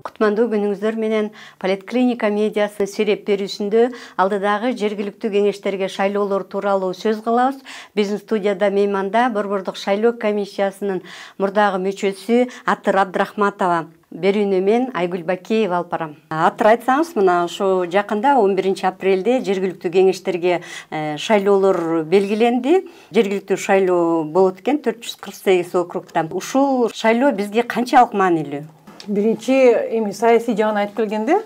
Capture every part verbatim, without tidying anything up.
Кутмандуу күнүңүздөр менен Поликлиника медиасы сереп берүүсүндө алдыдагы жергиликтүү кеңештерге шайлоолор тууралуу сөз кылабыз. Биздин студияда мейманда Борбордук шайлоо комиссиясынын мурдагы мүчөсү Атыр Абдрахматова, берүүнү мен Айгүл Бакеева алып барам. Атыр, айтсаңыз, мына ушу жакында он биринчи апрелде жергиликтүү кеңештерге шайлоолор белгиленди. Жергиликтүү шайлоо болот экен төрт жүз кырк сегиз округда. Ушул шайлоо бизге канчалык маанилүү? Биринчи эми саясий жагын айтып келгенде,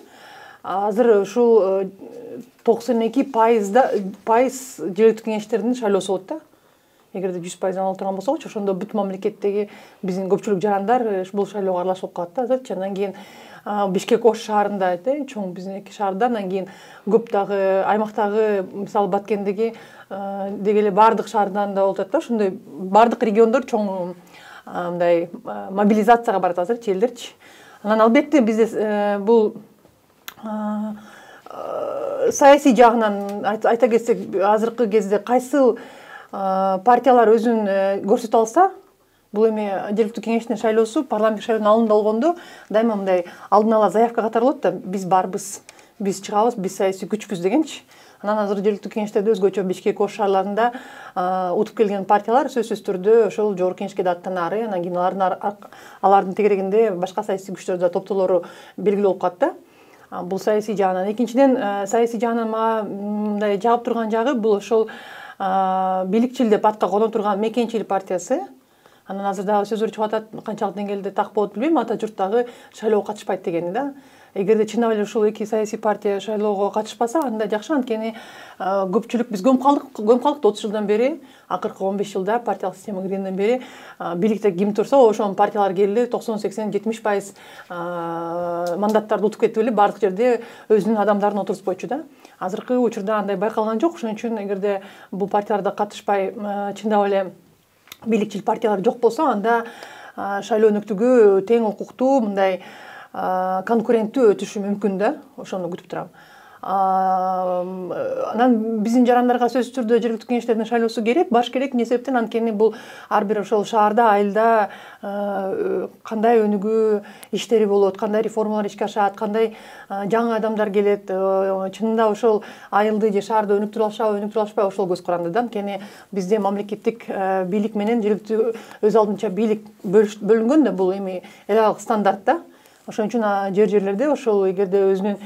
азыр ушул токсон эки пайызда пайыз жергиликтүү кеңештердин шайлоосу болот да. Эгерде жүз пайыздан ала турган болсокчу, ошондо бүт мамлекеттеги биздин көпчүлүк жарандар бул шайлоого аралашып калат да азырчы. Андан кийин Бишкек Ош шаарында чоң биздин эки шаарда, андан кийин көп дагы аймактагы, мисалы Баткендеги деги эле баардык шаардан да болуп атат да. Ошондой баардык региондор чоң мындай мобилизацияга барат азырчы элдерчи. Анан албетте бизде бул саясий жагынан айта кетсек, азыркы кезде кайсыл партиялар өзүн көрсөтө алса, бул эми жергиликтүү кеңештин шайлоосу парламенттик шайлоонун алдында болгондо дайыма мындай алдын ала заявка катары болот да, биз барбыз, биз чыгабыз, биз саясий күчпүз дегенчи. Анан азыр жергиликтүү кеңештерде өзгөчө Бишкек Ош шаарларында утуп келген партиялар сөзсүз түрдө ошол жогорку кеңешке да аттанары, анан кийин алардын алардын тегерегинде башка саясий күчтөр да топтоолору белгилүү болуп калат да. Бул саясий жагынан. Экинчиден, саясий жагынан мага мындай жагып турган жагы бул ошол бийликчил деп атка коно турган Мекенчил партиясы. Анан азыр дагы сөздөр чыгып атат, канчалык деңгээлде так болот билбейм, ата журт дагы шайлоого катышпайт дегени да. Эгерде чындап эле ушул эки саясий партия шайлоого катышпаса, анда жакшы, анткени көпчүлүк биз көмүп калдык, көмүп калдык отуз жылдан бери, акыркы он беш жылда партиялык система киргенден бери бийликте ким турса, ошол партиялар келди, токсон сексен жетимиш пайыз мандаттарды утуп кетип эле баардык жерде өзүнүн адамдарын отургузбойчу да. Азыркы учурда андай байкалган жок. Ошон үчүн эгерде бул партияларда катышпай чындап эле бийликчил партиялар жок болсо, анда шайлоо өнөктүгү тең укуктуу, мындай конкуренттүү өтүшү мүмкүн да. Ошону күтүп турам. Анан биздин жарандарга сөзсүз түрдө жергиликтүү кеңештердин шайлоосу керек, баш керек. Эмне себептен? Анткени бул ар бир ошол шаарда, айылда кандай өнүгүү иштери болот, кандай реформалар ишке ашат, кандай жаңы адамдар келет, чынында ошол айылды же шаарды өнүктүрө алышабы, өнүктүрө алышпайбы, ошол көз каранды да. Анткени бизде мамлекеттик бийлик менен жергиликтүү өз алдынча бийлик бөлүнгөн да, бул эми эл аралык стандарт да. Ошон үчүн жер-жерлерде ошол эгерде өзүнүн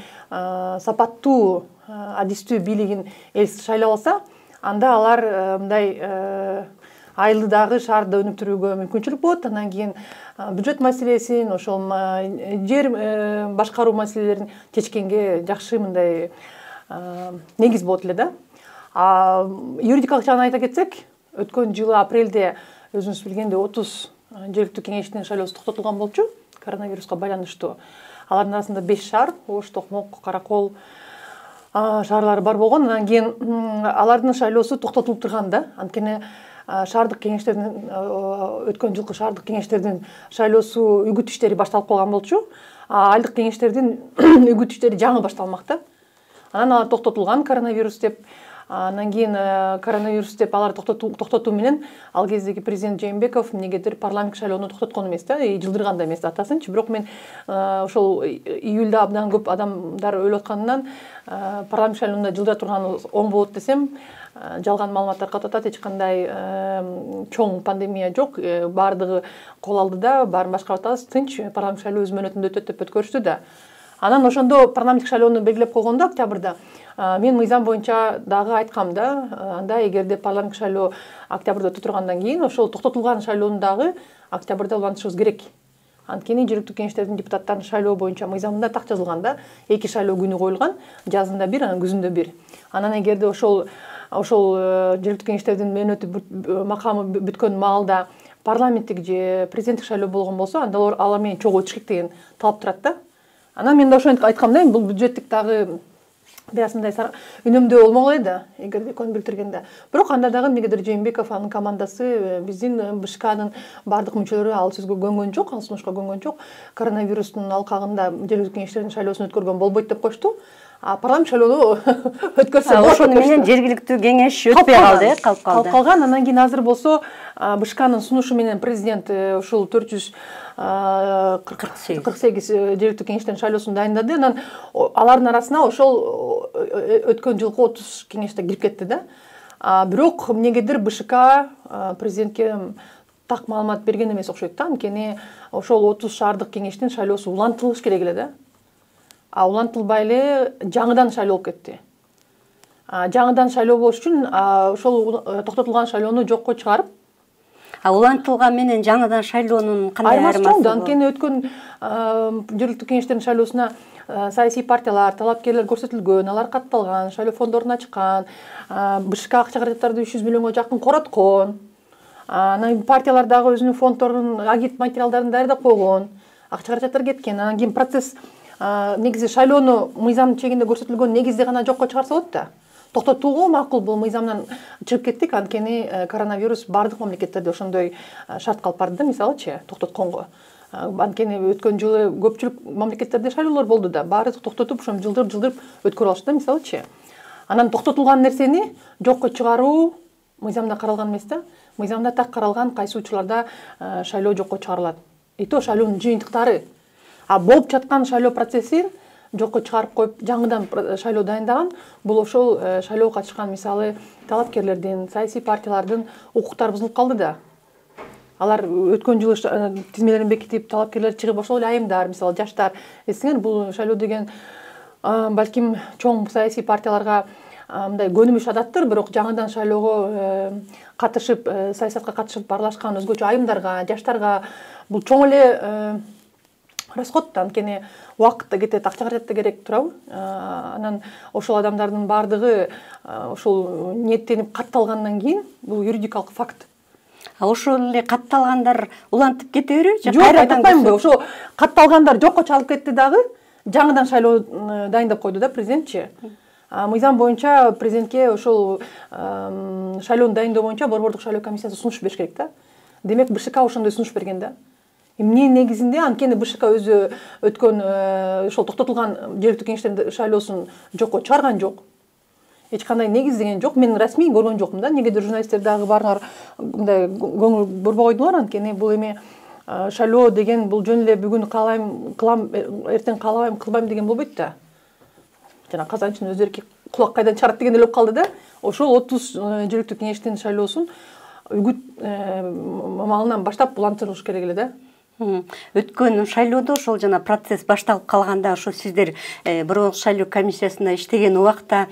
сапаттуу, адистүү бийлигин эл шайлап алса, анда алар мындай айылды дагы шаарды өнүктүрүүгө мүмкүнчүлүк болот. Андан кийин бюджет маселесин, ошол жер башкаруу маселелерин чечкенге жакшы мындай негиз болот эле да. Юридикалык жагын айта кетсек, өткөн жылы апрелде өзүңүз билгендей отуз жергиликтүү кеңештин шайлоосу токтотулган болчу коронавируска байланыштуу. Алардын арасында беш шаар, Ош, Токмок, Каракол шаарлары бар болгон. Андан кийин алардын шайлоосу токтотулуп турган да. Анткени шаардык кеңештердин өткөн жылкы шаардык кеңештердин шайлоосу үгүт иштери башталып калган болчу. Айылдык кеңештердин үгүт иштери жаңы башталмак да. Анан алар токтотулган коронавирус деп. Андан кийин коронавирус деп алар токтотуу менен ал кездеги президент Жээнбеков эмнегедир парламенттик шайлоону токтоткон эмес да, жылдырган да эмес датасынчы. Бирок мен ошол июлда абдан көп адамдар өлүп атканынан парламенттик шайлоону жылдыра турганы оң болот десем, жалган маалыматтар катып атат. Эч кандай чоң пандемия жок, баардыгы кол алдыда, баарын башкарып атабыз, тынч, парламенттик шайлоо өз мөөнөтүндө өтөт деп өткөрүштү да. Анан ошондо парламенттик шайлоону белгилеп койгондо октябрда мен мыйзам боюнча дагы айткам да, анда эгерде парламенттик шайлоо октябрда өтө тургандан кийин ошол токтотулган шайлоону дагы октябрда улантышыбыз керек. Анткени жергиликтүү кеңештердин депутаттарын шайлоо боюнча мыйзамында так жазылган да, эки шайлоо күнү коюлган, жазында бир, анан күзүндө бир. Анан эгерде ошол ошол жергиликтүү кеңештердин мөөнөтү макамы бүткөн маалда парламенттик же президенттик шайлоо болгон болсо, анда алар менен чогуу өтүш керек деген талап турат да. Анан мен да ошентип айткам да, бул бюджеттик дагы бир аз мындай үнөмдөө болмок эле да, эгерде көңүл билдиргенде. Бирок анда дагы эмнегедир Жээнбеков, анын командасы, биздин БШКнын баардык мүчөлөрү ал сөзгө көнгөн жок, ал сунушка көнгөн жок. Коронавирустун алкагында жергиликтүү кеңештердин шайлоосун өткөргөн болбойт деп коюшту. парламент шайлоону өткөрсө болот. Ошону менен жергиликтүү кеңеш өтпөй калды, калып калды. Калып калган. Анан кийин азыр болсо БШКнын сунушу менен президент ушул төрт жүз кырк сегиз жергиликтүү кеңештердин шайлоосун дайындады. Анан алардын арасына ошол өткөн жылкы отуз кеңеш да кирип кетти да. Бирок эмнегедир БШК президентке так маалымат берген эмес окшойт да. Анткени ошол отуз шаардык кеңештин шайлоосу улантылыш керек эле да. А улантылбай эле жаңыдан шайлоо болуп кетти. Жаңыдан шайлоо болуш үчүн ошол токтотулган шайлоону жокко чыгарып, а улантылган менен жаңыдан шайлоонун кандай айырмасы чоң да. Анткени өткөн жергиликтүү кеңештердин шайлоосуна саясий партиялар, талапкерлер көрсөтүлгөн, алар катталган, шайлоо фондорун ачкан, БШК акча каражаттарды үч жүз миллионго жакын короткон. Анан партиялар дагы өзүнүн фонддорун, агит материалдарын даярдап койгон, акча каражаттар кеткен. Анан кийин процесс негизи шайлоону мыйзам чегинде көрсөтүлгөн негизде гана жокко чыгарса болот да. Токтотууга макул, бул мыйзамдан чыгып кеттик, анткени коронавирус бардык мамлекеттерде ошондой шарт калып барды да, мисалычы, токтотконго. Анткени өткөн жылы көпчүлүк мамлекеттерде шайлоолор болду да, баары токтотуп, ошону жылдырып-жылдырып өткөрүп алышты да, мисалычы. Анан токтотулган нерсени жокко чыгаруу мыйзамда каралган эмес да. Мыйзамда так каралган кайсы учурларда шайлоо жокко чыгарылат. И то шайлоонун жыйынтыктары. А болуп жаткан шайлоо процессин жокко чыгарып коюп, жаңыдан шайлоо дайындаган, бул ошол шайлоого катышкан мисалы талапкерлердин, саясий партиялардын укуктары бузулуп калды да. Алар өткөн жылы тизмелерин бекитип, талапкерлер чыгып, ошол эле айымдар, мисалы жаштар, эсиңер, бул шайлоо деген балким чоң саясий партияларга мындай көнүмүш адаттыр, бирок жаңыдан шайлоого катышып, саясатка катышып аралашкан өзгөчө айымдарга, жаштарга бул чоң эле расход да. Анткени убакыт да кетет, акча каражат да керек, туурабы? Анан ошол адамдардын баардыгы ошол ниеттенип катталгандан кийин бул юридикалык факт. А ошол эле катталгандар улантып кете береби? Жок, айтпаймынбы, ошо катталгандар жокко чыгарылып кетти дагы, жаңыдан шайлоо дайындап койду да президентчи. Мыйзам боюнча президентке ошол шайлоону дайындоо боюнча борбордук шайлоо комиссиясы сунуш бериш керек да. Демек БШК ошондой сунуш берген да. Эмне негизинде, анткени БШК өзү өткөн ошол токтотулган жергиликтүү кеңештердин шайлоосун жокко чыгарган жок. Эч кандай негиздеген жок. Мен расмий көргөн жокмун да. Негедир журналисттер дагы баарыңар мындай көңүл бурбой койдуңар, анткени бул эми шайлоо деген бул жөн эле бүгүн каалайм кылам, эртең каалабайм кылбайм деген болбойт да. Жана казанчынын өз эрки кулак кайдан чыгарат деген эле болуп калды да. Ошол отуз жергиликтүү кеңештин шайлоосун үгүт маалынан баштап улантырылыш керек эле да. Өткөн шайлоодо ошол жана процесс башталып калганда ошо сиздер борбордук шайлоо комиссиясында иштеген убакта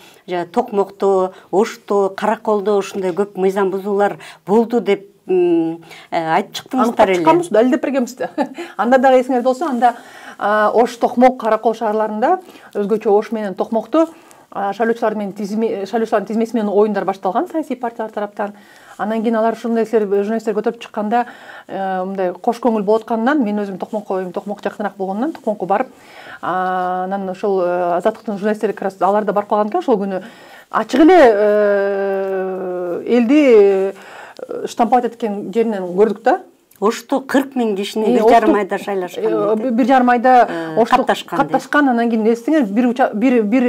Токмокто, Ошто, Караколдо ушундай көп мыйзам бузуулар болду деп айтып чыктыңыздар эле. Чыкканбыз да, далилдеп бергенбиз да. Анда дагы эсиңерде болсо, анда Ош, Токмок, Каракол шаарларында өзгөчө Ош менен Токмокто шайлоочулар менен тизме шайлоочулардын тизмеси менен оюндар башталган саясий партиялар тараптан. Анан кийин алар ушундай журналисттер көтөрүп чыкканда мындай кош көңүл болуп атканынан, мен өзүм Токмокко, Токмок жакыныраак болгондон Токмокко барып, анан ошол Азаттыктын журналисттери алар да барып калган экен ошол күнү. Ачык эле элди штамповать эткен жеринен көрдүк да. Ошто кырк миң кишини бир жарым айда шайлашкан. Бир жарым айда Ошто катташкан. Анан кийин эстеңер, бир бир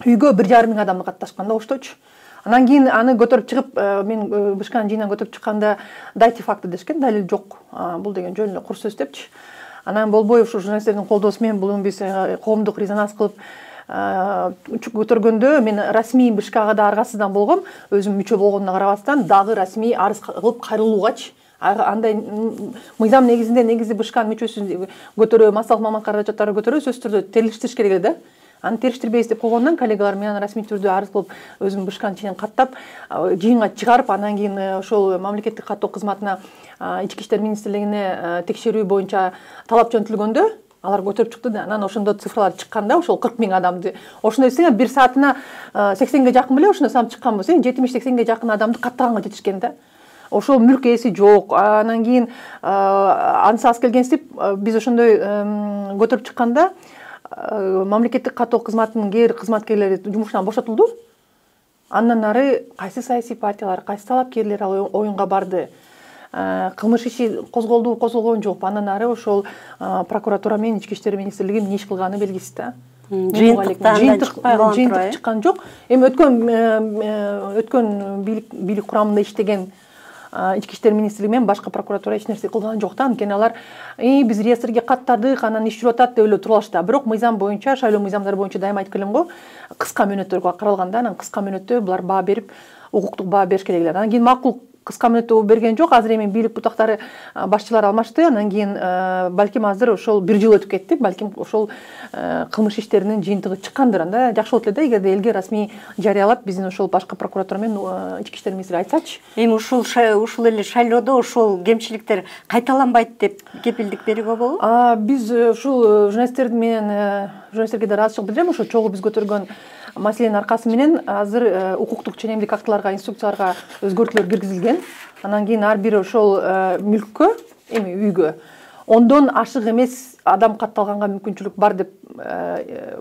үйгө бир жарым миң адам катташкан да Ошточу. Анан кийин аны көтөрүп чыгып, мен БШКнын жыйынан көтөрүп чыкканда дайте факты дешкен, далил жок. Бул деген жөн эле кур сөз депчи. Анан болбой ушу журналисттердин колдоосу менен бул биз коомдук резонанс кылып көтөргөндө мен расмий БШКга да аргасыздан болгом, өзүм мүчө болгонуна карабастан дагы расмий арыз кылып кайрылуугачы. Андай мыйзам негизинде негизи БШКнын мүчөсүн көтөрүү, массалык маалымат каражаттары көтөрүү сөзсүз түрдө териштириш керек эле да. Аны териштирбейбиз деп койгондон коллегалар менен расмий түрдө арыз кылып, өзүм БШКнын ичинен каттап, жыйынга чыгарып, анан кийин ошол мамлекеттик каттоо кызматына, Ички иштер министрлигине текшерүү боюнча талап жөнөтүлгөндө, алар көтөрүп чыкты да. Анан ошондо цифралар чыкканда, ошол кырк миң адамды, ошондой десең, бир саатына сексенге жакын беле ошондой сан чыкканбыз, жетимиш сексенге жакын адамды каттаганга жетишкен да. Ошол мүлк ээси жок. Анан кийин ансыз келгенсип, биз ошондой көтөрүп чыкканда, мамлекеттик каттоо кызматынын кээ бир кызматкерлери жумушунан бошотулду. Андан ары кайсы саясий партиялар, кайсы талапкерлер ал оюнга барды. кылмыш иши козголду, козголгон жок. Андан ары ошол прокуратура менен Ички иштер министрлиги эмне иш кылганы белгисиз да. Жыйынтык чыккан жок. Эми өткөн өткөн бийлик курамында иштеген Ички иштер министрлиги менен башка прокуратура эч нерсе кылган жок да. Анткени алар биз реестрге каттадык, анан иш жүрүп атат деп эле туруп алышты. Бирок мыйзам боюнча, шайлоо мыйзамдары боюнча дайыма айткан элем го, кыска мөөнөттөргө каралганда, анан кыска мөөнөттө булар баа берип, укуктук баа бериш керек эле. Анан кийин макул кыска мөөнөттө берген жок. Азыр эми бийлик бутактары башчылар алмашты. Анан кийин балким азыр ошол бир жыл өтүп кетти. Балким ошол кылмыш иштеринин жыйынтыгы чыккандыр. Анда жакшы болот эле да, эгерде элге расмий жарыялап, биздин ошол башка прокуратура менен Ички иштер министри айтсачы. Эми ушул ушул эле шайлоодо ошол кемчиликтер кайталанбайт деп кепилдик берүүгө болобу? Биз ушул журналисттер менен журналисттерге да ыраазычылык билдирем. Ошо чогуу биз көтөргөн маселенин аркасы менен азыр укуктук ченемдик актыларга, инструкцияларга өзгөртүүлөр киргизилген. Анан кийин ар бир ошол мүлккө, эми үйгө ондон ашык эмес адам катталганга мүмкүнчүлүк бар деп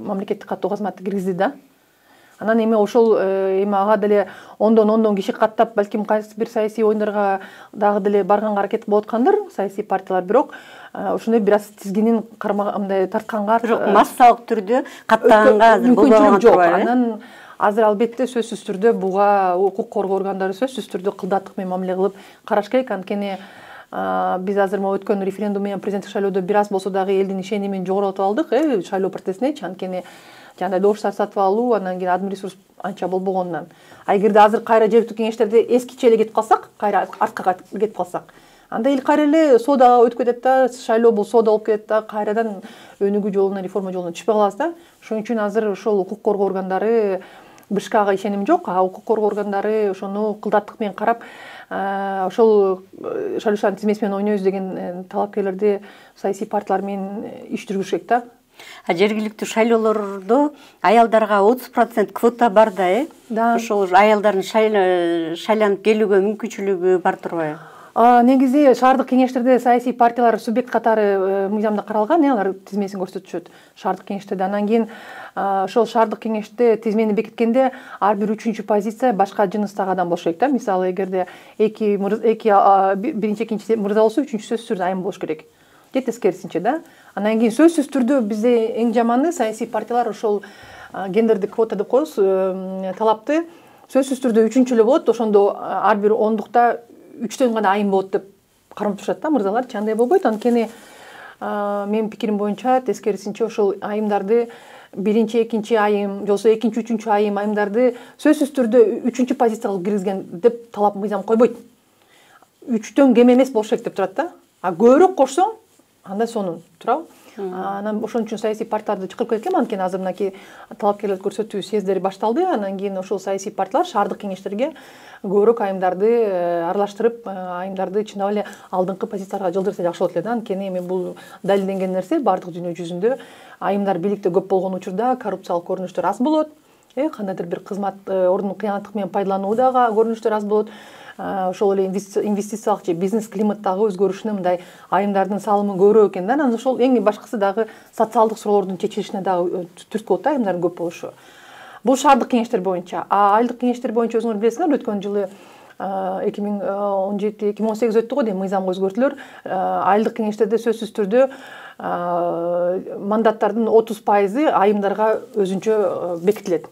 мамлекеттик каттоо кызматы киргизди да. Анан эми ошол эми ага деле ондон ондон киши каттап, балким кайсы бир саясий оюндарга дагы деле барганга аракет кылып аткандыр саясий партиялар, бирок ошондой бир аз тизгинин кармагандай тартканга, бирок массалык түрдө каттаганга азыр мүмкүнчүлүк жок. Анан азыр албетте сөзсүз түрдө буга укук коргоо органдары сөзсүз түрдө кылдаттык менен мамиле кылып караш керек. Анткени биз азыр могу өткөн референдум менен президенттик шайлоодо бир аз болсо дагы элдин ишенимин жогорулатып алдык, э шайлоо процессинечи. Анткени жана добуштар сатып алуу, андан кийин админ ресурс анча болбогондон. А эгерде азыр кайра жергиликтүү кеңештерде эскиче эле кетип калсак, кайра артка кетип калсак, анда эл кайра эле соодага өтүп кетет да, шайлоо бул соода болуп кетет да, кайрадан өнүгүү жолуна, реформа жолуна түшпөй калабыз да. Ошон үчүн азыр ошол укук коргоо органдары, БШКга ишеним жок, а укук коргоо органдары ошону кылдаттык менен карап, ошол шайлоочулардын тизмеси менен ойнойбуз деген талапкерлерди саясий партиялар менен иш жүргүзүш керек да. А жергиликтүү шайлоолордо аялдарга отуз процент квота бар да, э? Ошол аялдардын шайланып келүүгө мүмкүнчүлүгү бар турбайбы? Негизи шаардык кеңештерде саясий партиялар субъект катары мыйзамда каралган, алар тизмесин көрсөтүшөт шаардык кеңештерде. Анан кийин ошол шаардык кеңеште тизмени бекиткенде ар бир үчүнчү позиция башка жыныстагы адам болуш керек да. Мисалы, эгерде эки эки биринчи экинчи мырза болсо, үчүнчү сөзсүз түрдө айым болуш керек. Же тескерисинче да. Анан кийин сөзсүз түрдө бизде эң жаманы саясий партиялар ошол гендердик квота деп коебуз, талапты сөзсүз түрдө үчүнчү эле болот, ошондо ар бир ондукта үчтөн гана айым болот деп кармап турушат да мырзаларчы. Андай болбойт. Анткени менин пикирим боюнча тескерисинче ошол айымдарды биринчи, экинчи айым, жолсо экинчи, үчүнчү айым айымдарды сөзсүз түрдө үчүнчү позицияга алып киргизген деп талап мыйзам койбойт. Үчтөн кем эмес болуш керек деп турат да. А көбүрөөк кошсоң, анда сонун турабы. Анан ошон үчүн саясий партияларды чакырып кеткем. Анткени азыр мынакей талапкерлерди көрсөтүү съездери башталды. Анан кийин ошол саясий партиялар шаардык кеңештерге көбүрөөк айымдарды аралаштырып, айымдарды чындап эле алдыңкы позицияларга жылдырса жакшы болот эле да. Анткени эми бул далилденген нерсе, баардык дүйнө жүзүндө айымдар бийликте көп болгон учурда коррупциялык көрүнүштөр аз болот. Э кандайдыр бир кызмат ордун кыянаттык менен пайдалануу дагы көрүнүштөр аз болот. Ошол эле инвестициялык же бизнес климаттагы өзгөрүшүнө мындай айымдардын салымы көбүрөөк экен да. Анан ошол эң башкысы дагы социалдык суроолордун чечилишине дагы түрткү болот да, айымдардын көп болушу. Бул шаардык кеңештер боюнча. А айылдык кеңештер боюнча өзүңөр билесиңер, өткөн жылы эки миң он жети эки миң он сегиз өттү го дейм, мыйзамга өзгөртүүлөр. Айылдык кеңештерде сөзсүз түрдө мандаттардын отуз пайызы айымдарга өзүнчө бекитилет.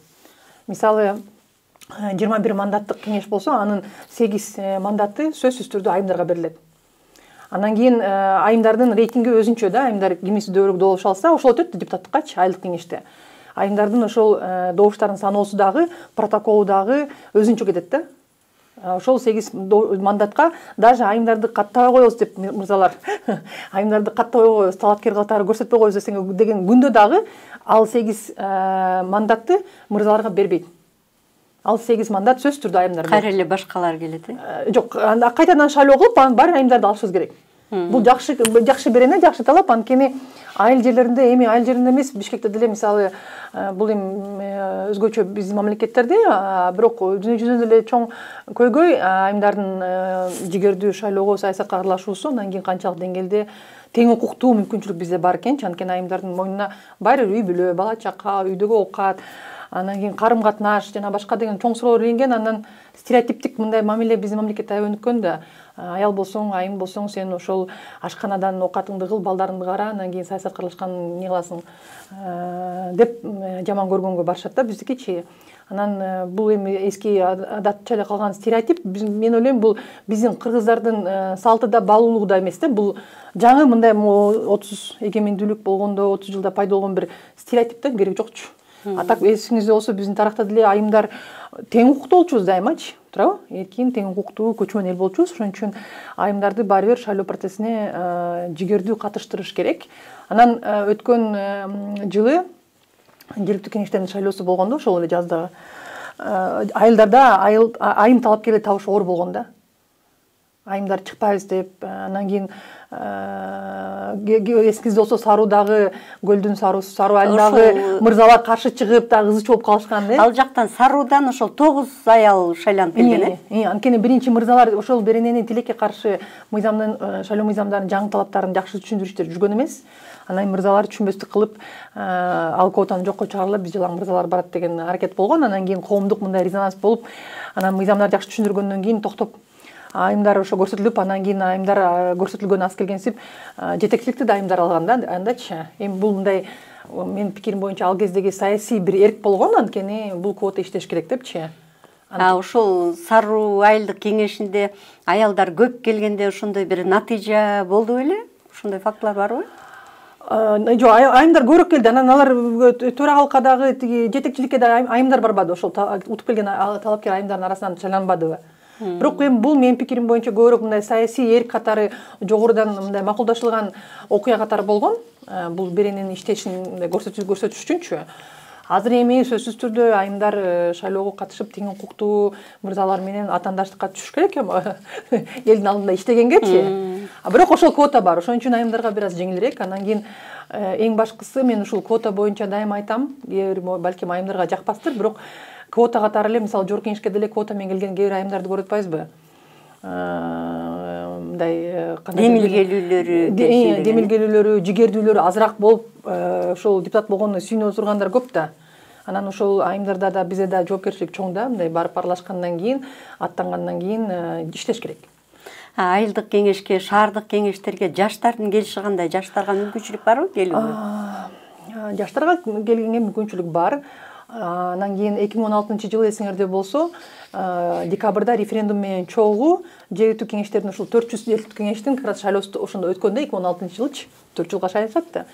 Мисалы, жыйырма бир мандаттык кеңеш болсо, анын сегиз мандаты сөзсүз түрдө айымдарга берилет. Анан кийин айымдардын рейтинги өзүнчө да, айымдар кимиси дөөрөөк добуш алса, ошол өтөт депутаттыккачы айылдык кеңеште. Айымдардын ошол добуштарын саноосу дагы, протоколу дагы өзүнчө кетет да. Ошол сегиз мандатка даже айымдарды каттабай коебуз деп мырзалар, айымдарды каттабай коебуз, талапкер катары көрсөтпөй коебуз деген күндө дагы ал сегиз мандатты мырзаларга бербейт. Ал сегиз мандат сөзсүз түрдө айымдар. Кайра эле башкалар келет, э? Жок, анда кайтадан шайлоо кылып, анын баарын айымдарды алышыбыз керек. Бул жакшы жакшы берене, жакшы талап. Анткени айыл жерлеринде, эми айыл жерлеринде эмес, Бишкекте деле мисалы, бул эми өзгөчө биздин мамлекеттерде, бирок дүйнө жүзүндө деле чоң көйгөй айымдардын жигердүү шайлоого, саясатка аралашуусу, андан кийин канчалык деңгээлде тең укуктуу мүмкүнчүлүк бизде бар экенчи. Анткени айымдардын мойнуна баары үй бүлө, бала чака, үйдөгү оокат, анан кийин карым катнаш жана башка деген чоң суроолор илинген. Андан стереотиптик мындай мамиле биздин мамлекетте аябай өнүккөн да. аял болсоң, айым болсоң, сен ошол ашканадан оокатыңды кыл, балдарыңды кара, анан кийин саясатка аралашкан эмне кыласың деп жаман көргөнгө барышат да биздикичи. Анан бул эми эски адатча эле калган стереотип. Мен ойлойм, бул биздин кыргыздардын салты да баалуулугу да эмес да. Бул жаңы мындай отуз эгемендүүлүк болгондо, отуз жылда пайда болгон бир стереотип да, кереги жокчу. А так эсиңизде болсо, биздин таракта деле айымдар тең укуктуу болчубуз дайымачы, туурабы? Эркин, тең укуктуу, көчмөн эл болчубуз. Ошон үчүн айымдарды баары бир шайлоо процессине жигердүү катыштырыш керек. Анан өткөн жылы жергиликтүү кеңештердин шайлоосу болгондо, ошол эле жазда айылдарда айым талапкерлер табыш оор болгон да. Айымдар чыкпайбыз деп, анан кийин эсиңизде болсо Саруудагы көлдүн Саруусу, Саруу айылдагы мырзалар каршы чыгып, дагы ызычы болуп калышкан. Ал жактан Саруудан ошол тогуз аял шайланып келген э. Анткени биринчи мырзалар ошол беренени тилекке каршы мыйзамдын, шайлоо мыйзамдарынын жаңы талаптарын жакшы түшүндүрүштөр жүргөн эмес. Анан мырзалар түшүнбөстүк кылып, ал квотаны жокко чыгарылып, биз жылаң мырзалар барат деген аракет болгон. Анан кийин коомдук мындай резонанс болуп, анан мыйзамдарды жакшы түшүндүргөндөн кийин токтоп, айымдар ошо көрсөтүлүп, анан кийин айымдар көрсөтүлгөн аз келгенсип жетекчиликти да айымдар алган да андачы. Эми бул мындай, менин пикирим боюнча, ал кездеги саясий бир эрк болгон, анткени бул квота иштеш керек депчи. А ошол Саруу айылдык кеңешинде аялдар көп келгенде ошондой бир натыйжа болду беле? Ошондой фактылар барбы? Жок, айымдар көбүрөөк келди. Анан алар төрагалыкка дагы, тиги жетекчиликке да айымдар барбады. Ошол утуп келген талапкер айымдардын арасынан шайланбадыбы? Бирок эми бул менин пикирим боюнча көбүрөөк мындай саясий эрк катары жогорудан мындай макулдашылган окуя катары болгон. Бул берененин иштешин көрсөтүш үчүнчү. Азыр эми сөзсүз түрдө айымдар шайлоого катышып, тең укуктуу мырзалар менен атаандаштыкка түшүш керек элдин алдында иштегенгечи. Бирок ошол квота бар. Ошон үчүн айымдарга бир аз жеңилирээк. Анан кийин эң башкысы, мен ушул квота боюнча дайыма айтам, балким айымдарга жакпастыр, бирок квота катары эле, мисалы жогорку кеңешке деле квота менен келген кээ бир айымдарды көрүп атпайбызбы? Мындай демилгелүүлөрү, демилгелүүлөрү, жигердүүлөрү азыраак болуп, ошол депутат болгону сүйүнүп отургандар көп да. Анан ошол айымдарда да бизде да жоопкерчилик чоң да, мындай барып аралашкандан кийин, аттангандан кийин иштеш керек. Айылдык кеңешке, шаардык кеңештерге жаштардын келиши кандай? Жаштарга мүмкүнчүлүк барбы келүүгө? Жаштарга келгенге мүмкүнчүлүк бар. Анан кийин эки миң он алтынчы жылы эсиңерде болсо, декабрда референдум менен чогуу жергиликтүү кеңештердин, ушул төрт жүз жергиликтүү кеңештин как раз шайлоосу ошондо өткөн да, эки миң он алтынчы жылычы, төрт жылга шайлашат да.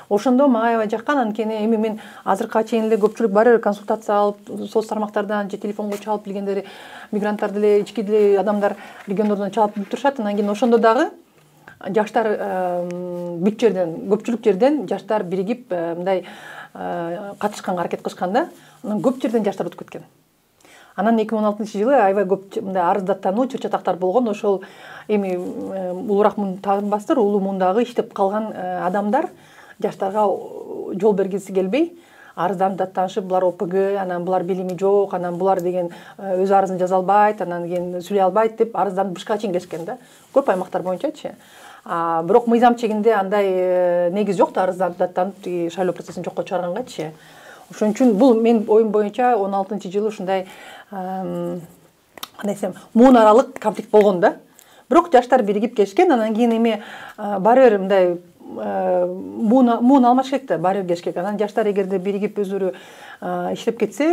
Ошондо мага аябай жаккан, анткени эми мен азыркыга чейин эле көпчүлүк бар консультация алып, соц тармактардан же телефонго чалып билгендер, мигранттар деле, ички деле адамдар региондордон чалып билип турушат. Анан кийин ошондо дагы жаштар бүт жерден, көпчүлүк жерден жаштар биригип мындай катышканга аракет кылышкан да. Анан көп жерден жаштар өтүп кеткен. Анан эки миң он алтынчы жылы аябай көп мындай арыздаттануу, чыр-чатактар болгон. Ошол эми улуураак муун таанбастыр, улуу муундагы иштеп калган адамдар жаштарга жол бергиси келбей, арызданып даттанышып, булар О П Г, анан булар билими жок, анан булар деген өз арызын жаза албайт, анан кийин сүйлөй албайт деп арызданып бышка чейин келишкен да. Көп аймактар боюнчачы. Бирок мыйзам чегинде андай негиз жок да, арызданып даттанып шайлоо процессин жокко чыгаргангачы. Ошон үчүн бул менин оюм боюнча он алтынчы жылы ушундай кандай десем, муун аралык конфликт болгон да. Бирок жаштар биригип келишкен, анан кийин эми баары бир мындай муун алмаш керек да, баары бир келиш керек. Анан жаштар эгерде биригип өзүрү иштеп кетсе,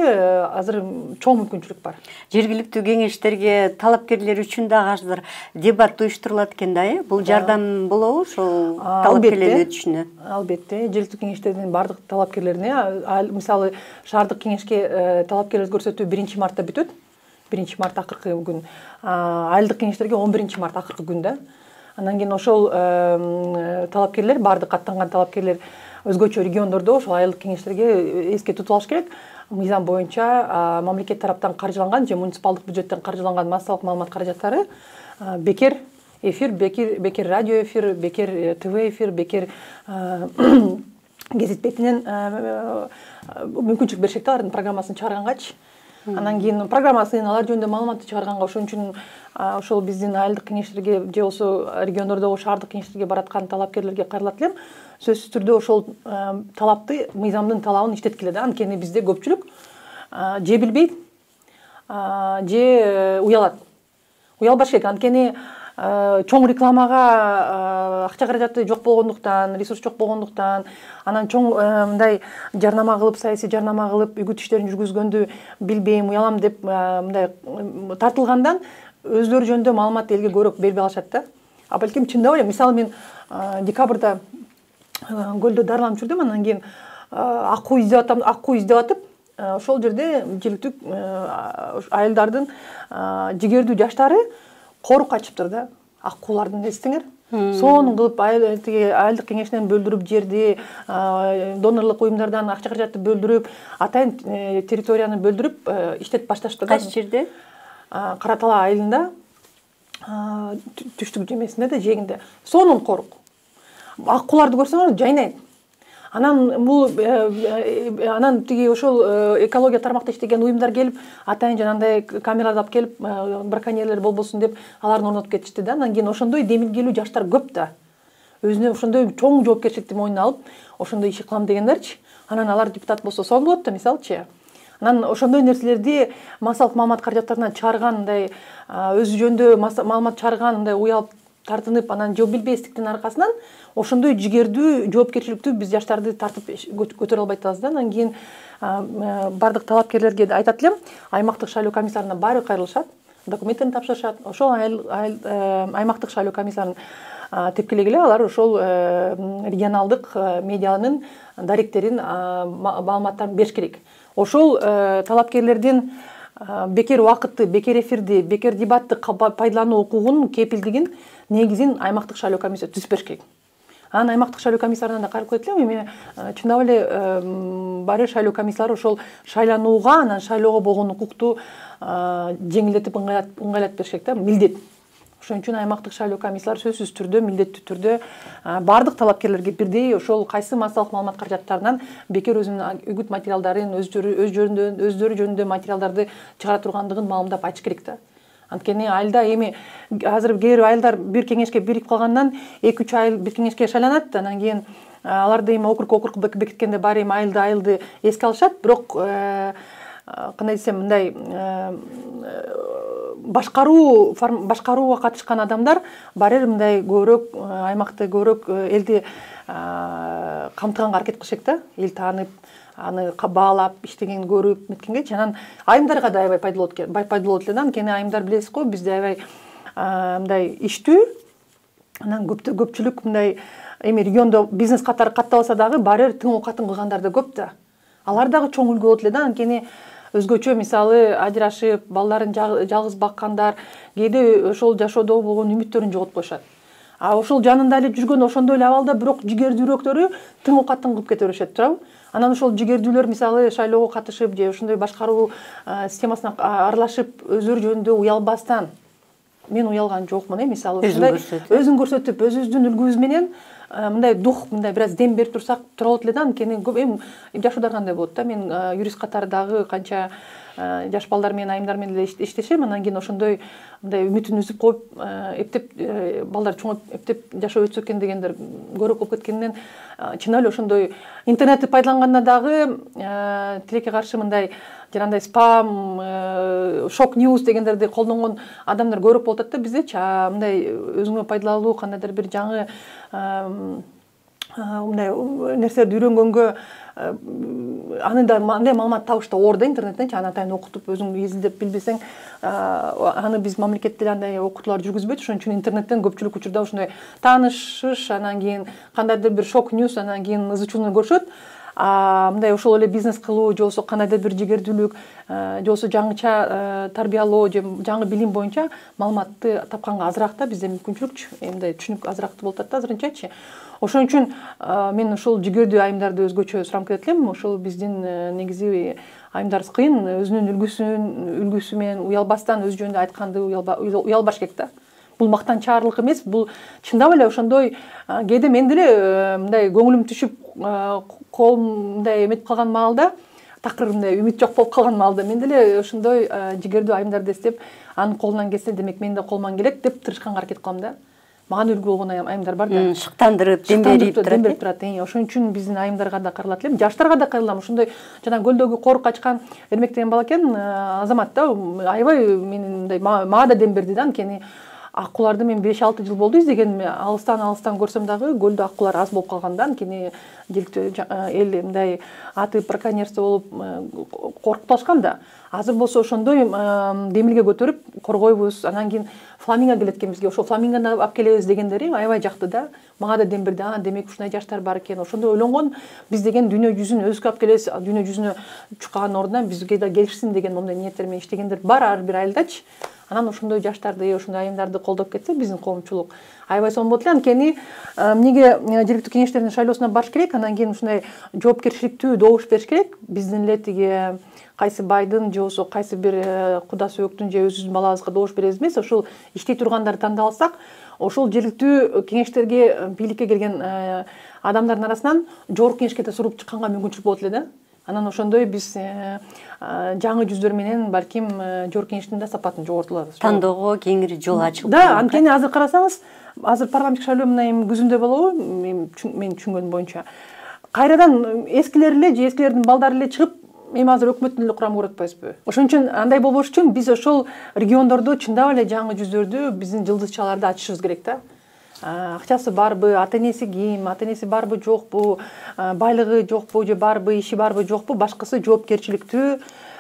азыр чоң мүмкүнчүлүк бар. Жергиликтүү кеңештерге талапкерлер үчүн дагы азыр дебат уюштурулат экен да, э? Бул жардам болобу ошол талапкерлердин өтүшүнө? Албетте, жергиликтүү кеңештердин бардык талапкерлерине, мисалы шаардык кеңешке талапкерлер көрсөтүү биринчи мартта бүтөт. биринчи март акыркы күн. Айылдык кеңештерге он биринчи март акыркы күн да. Анан кийин ошол талапкерлер, бардык аттанган талапкерлер өзгөчө региондордо ошол айылдык кеңештерге эске тутуп алыш керек. Мыйзам боюнча мамлекет тараптан каржыланган же муниципалдык бюджеттен каржыланган массалык маалымат каражаттары бекер эфир, бекер, бекер радио эфир, бекер ТВ эфир, бекер гезит бетинен мүмкүнчүлүк беришет да, алардын программасын чыгаргангачы. Анан кийин программасын, алар жөнүндө маалыматты чыгарганга, ошон үчүн ошол биздин айылдык кеңештерге же болсо региондордогу шаардык кеңештерге бараткан талапкерлерге кайрылат элем. Сөзсүз түрдө ошол талапты, мыйзамдын талабын иштеткиле да. Анткени бизде көпчүлүк же билбейт, же уялат. Уялбаш керек. Анткени чоң рекламага акча каражаты жок болгондуктан, ресурс жок болгондуктан, анан чоң мындай жарнама кылып, саясий жарнама кылып, үгүт иштерин жүргүзгөндү билбейм, уялам деп мындай тартылгандан өздөрү жөнүндө маалымат элге көбүрөөк бербей алышат да. А балким чындап эле, мисалы мен декабрда көлдө дарыланып жүрдүм, анан кийин акуу издеп атам, акуу издеп атып, ошол жерде жергиликтүү айылдардын жигердүү жаштары корук качыптыр да, акуулардын, эстеңер. Сонун кылып айылдык кеңешинен бөлдүрүп жерди, донорлук уюмдардан акча каражатты бөлдүрүп, атайын территорияны бөлдүрүп иштетип башташты. Кайсы жерде? Кара Талаа айылында, түштүк жемесинде да, жээгинде. Сонун корук. Акууларды көрсөңөр жайнайт. Анан бул анан тиги ошол экология тармакта иштеген уюмдар келип, атайын жанагындай камераларды алып келип, браконьерлер болбосун деп аларын орнотуп кетишти да. Анан кийин ошондой демилгелүү жаштар көп да. Өзүнө ошондой чоң жоопкерчиликти мойнуна алып, ошондой иши кылам дегендерчи. Анан алар депутат болсо сонун болот да, мисалычы. Анан ошондой нерселерди массалык маалымат каражаттарынан чыгарган, мындай өзү жөнүндө маалымат чыгарган, мындай уялып тартынып, анан жол билбестиктин аркасынан ошондой жигердүү жоопкерчиликтүү биз жаштарды тартып көтөрө албай атабыз да. Анан кийин бардык талапкерлерге айтат элем, аймактык шайлоо комиссарына баары кайрылышат, документтерин тапшырышат. Ошол аймактык шайлоо комиссарын тепкилегиле алар ошол регионалдык медианын даректерин, маалыматтарын бериш керек. Ошол талапкерлердин бекер убакытты, бекер эфирди, бекер дебатты пайдалануу укугунун кепилдигин, негизин аймактык шайлоо комиссиясы түзүп бериш керек. Анан аймактык шайлоо комиссарына да кайрылып кетет элем, эми чындап эле баары шайлоо комиссиялары ошол шайланууга, анан шайлоого болгон укукту жеңилдетип, ыңгайлатып бериш керек да, милдет. Ошон үчүн аймактык шайлоо комиссиялары сөзсүз түрдө, милдеттүү түрдө бардык талапкерлерге бирдей ошол кайсы массалык маалымат каражаттарынан бекер өзүнүн үгүт материалдарын, өздөрү жөнүндө материалдарды чыгара тургандыгын маалымдап айтыш керек да. Анткени айылда эми азыр кээ бир айылдар бир кеңешке биригип калгандан эки үч айыл бир кеңешке шайланат, анан кийин аларды эми округ округ бекиткенде баары эми айылды айылды эске алышат, бирок кандай десем, мындай башкаруу башкарууга катышкан адамдар баары мындай көбүрөөк аймакты, көбүрөөк элди камтыганга аракет кылышат да, эл таанып, аны баалап, иштеген көрүп меткенгечи. Анан айымдарга да аябай пайдалуу болот эле да, анткени айымдар билесиз го, бизде аябай мындай иштүү, анан көпчүлүк мындай эми региондо бизнес катары каттабаса дагы баары тың оокатын кылгандар да көп да. Алар дагы чоң үлгү болот эле да, анткени өзгөчө мисалы ажырашып, балдарын жалгыз баккандар кээде ошол жашоодо болгон үмүттөрүн жоготуп коюшат. А ошол жанында эле жүргөн ошондой эле абалда бирок жигердүүрөөктөрү тың оокатын кылып кете беришет, туурабы? Анан ошол жигердүүлөр мисалы шайлоого катышып же ошондой башкаруу системасына аралашып, өздөрү жөнүндө уялбастан, мен уялган жокмун, э, мисалы өзүн көрсөтүп, өзүбүздүн үлгүбүз менен мындай дух, мындай бир аз дем берип турсак тура болот эле да, анткени эми жашуудар кандай болот да, мен юрист катары дагы канча жаш балдар менен, айымдар менен эле иштешем, анан кийин ошондой мындай үмүтүн үзүп коюп, эптеп балдар чоңоюп, эптеп жашоо өтсө экен дегендер көбүрөөк болуп кеткенинен, чынап эле ошондой интернетти пайдаланганда дагы тилекке каршы мындай жанагындай спам, шок ньюс дегендерди колдонгон адамдар көбүрөөк болуп атат да биздечи. Мындай өзүңө пайдалуу кандайдыр бир жаңы мындай нерселерди үйрөнгөнгө аны да андай маалымат табыш да оор да интернеттенчи, аны атайын окутуп өзүң изилдеп билбесең, аны биз мамлекетте андай окутуулар жүргүзбөйт. Ошон үчүн интернеттен көпчүлүк учурда ошондой таанышыш, анан кийин кандайдыр бир шок ньюс, анан кийин ызы-чууну көрүшөт. Мындай ошол эле бизнес кылуу, же болбосо кандайдыр бир жигердүүлүк, же болбосо жаңыча тарбиялоо, же жаңы билим боюнча маалыматты тапканга азыраак да бизде мүмкүнчүлүк, мындай түшүнүк азыраак болуп атат да азырынчачы. Ошон үчүн мен ошол жигердүү айымдарды өзгөчө сурам кетет элем. Ошол биздин негизи айымдарыбыз кыйын, өзүнүн үлгүсүн үлгүсү менен уялбастан өз жөнүндө айтканды уялбаш керек да. Бул мактанчаарлык эмес, бул чындап эле ошондой кээде мен деле мындай көңүлүм түшүп, колум мындай эметип калган маалда, такыр мындай үмүт жок болуп калган маалда мен деле ошондой жигердүү айымдарды эстеп, анын колунан келсе, демек менин да колуман келет деп тырышканга аракет кылам да. Мага үлгү болгон айымдар бар да. Шыктандырып, дем берип турат. Дем берип турат. Ошон үчүн биздин айымдарга да кайрылат элем, жаштарга да кайрылам. Ошондой жана көлдөгү корук качкан Эрмек деген бала экен, Азамат да, аябай менин мындай мага да дем берди да, анткени аккуларды мен беш алты жыл болду издегениме, алыстан алыстан көрсөм дагы көлдө аккулар аз болуп калганда, анткени жергиликтүү эл мындай аты браконьерство болуп коркуп калышкан да. Азыр болсо ошондой демилге көтөрүп коргойбуз. Анан кийин фламинго келет экен бизге. Ошо фламингону алып келебиз дегендери аябай жакты да. Мага да дем берди. А, демек ушундай жаштар бар экен. Ошондо ойлонгон, биз деген дүйнө жүзүн өзгө алып келебиз, дүйнө жүзүнө чуккан ордуна бизге да келишсин деген моундай ниеттер менен иштегендер бар ар бир айылдачы. Анан ошондой жаштарды, ошондой айымдарды колдоп кетсе биздин коомчулук аябай сонун болот эле. Анткени эмнеге жергиликтүү кеңештердин шайлоосуна барыш керек, анан кийин ушундай жоопкерчиликтүү добуш бериш керек. Биздин эле тиги кайсы байдын же болбосо кайсы бир куда сөөктүн же өзүбүздүн балабызга добуш беребиз эмес, ошол иштей тургандарды тандап алсак, ошол жергиликтүү кеңештерге, бийликке келген адамдардын арасынан жогорку кеңешке да суруп чыкканга мүмкүнчүлүк болот эле да. Анан ошондой биз жаңы жүздөр менен балким жогорку кеңештин да сапатын жоготулабыз. Тандоого кеңири жол ачылып. Да, анткени азыр карасаңыз, азыр парламенттик шайлоо мына эми күзүндө болобу, мен түшүнгөнүм боюнча. Кайрадан эскилер эле же эскилердин балдары эле чыгып, эми азыр өкмөттүн эле курамын көрүп атпайбызбы? Ошон үчүн андай болбош үчүн биз ошол региондордо чындап эле жаңы жүздөрдү, биздин жылдызчаларды ачышыбыз керек да. Акчасы барбы, ата энеси ким, ата энеси барбы жокпу, байлыгы жокпу же барбы, иши барбы жокпу, башкысы жоопкерчиликтүү,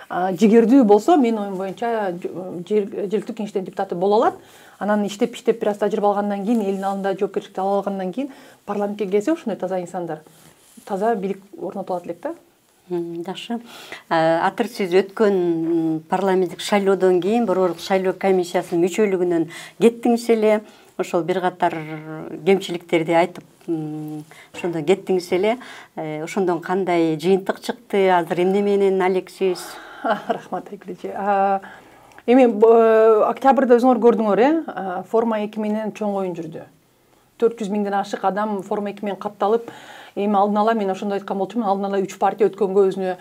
жигердүү болсо, менин оюм боюнча жергиликтүү кеңештердин депутаты боло алат. Анан иштеп иштеп бир аз тажрыйба алгандан кийин, элдин алдында жоопкерчиликти ала алгандан кийин парламентке келсе ошондой таза инсандар, таза бийлик орнотулат элек да. Жакшы. Атыр сиз өткөн парламенттик шайлоодон кийин Борбордук шайлоо комиссиясынын мүчөлүгүнөн кеттиңиз эле. Ошол бир катар кемчиликтерди айтып, ошондон кеттиңиз эле. Ошондон кандай жыйынтык чыкты? Азыр эмне менен алексиз? Рахмат Айгүл. Эми октябрда өзүңөр көрдүңөр, э? Форма эки менен чоң оюн жүрдү. төрт жүз миңден ашык адам Форма эки менен катталып, эми алдын ала мен ошондой айткан болчумун, алдын ала үч партия өткөнгө өзүнө